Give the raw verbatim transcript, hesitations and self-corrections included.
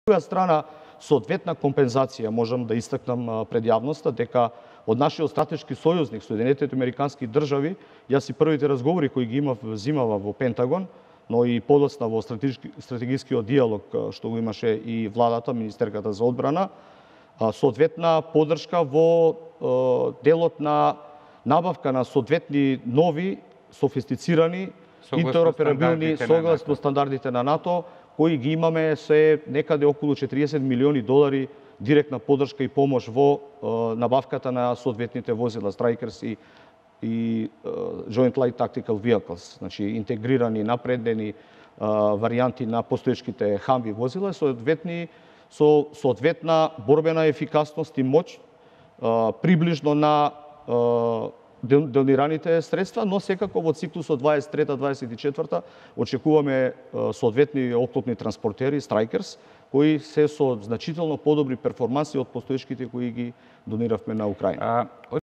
друга страна, соодветна компензација можам да истакнам пред јавноста дека од нашиот стратешки сојузник Соединетите Американски држави, јас и првите разговори кои ги имав зимава во Пентагон, но и подоцна во стратешки, стратегискиот диалог што го имаше и владата, министерката за одбрана, соодветна поддршка во делот на набавка на соодветни нови, софистицирани, интероперабилни, согласно стандардите на НАТО, кои ги имаме се некаде околу четириесет милиони долари директна поддршка и помош во набавката на соодветните возила Strykers и и Joint Light Tactical Vehicles, значи интегрирани, напреднени варијанти на постоечките Humvee возила, соодветни со соодветна борбена ефикасност и моќ, приближно на донираните средства, но секако во циклусот дваесет и трета дваесет и четврта очекуваме соодветни оклопни транспортери Strykers, кои се со значително подобри перформанси од постоечките кои ги дониравме на Украина.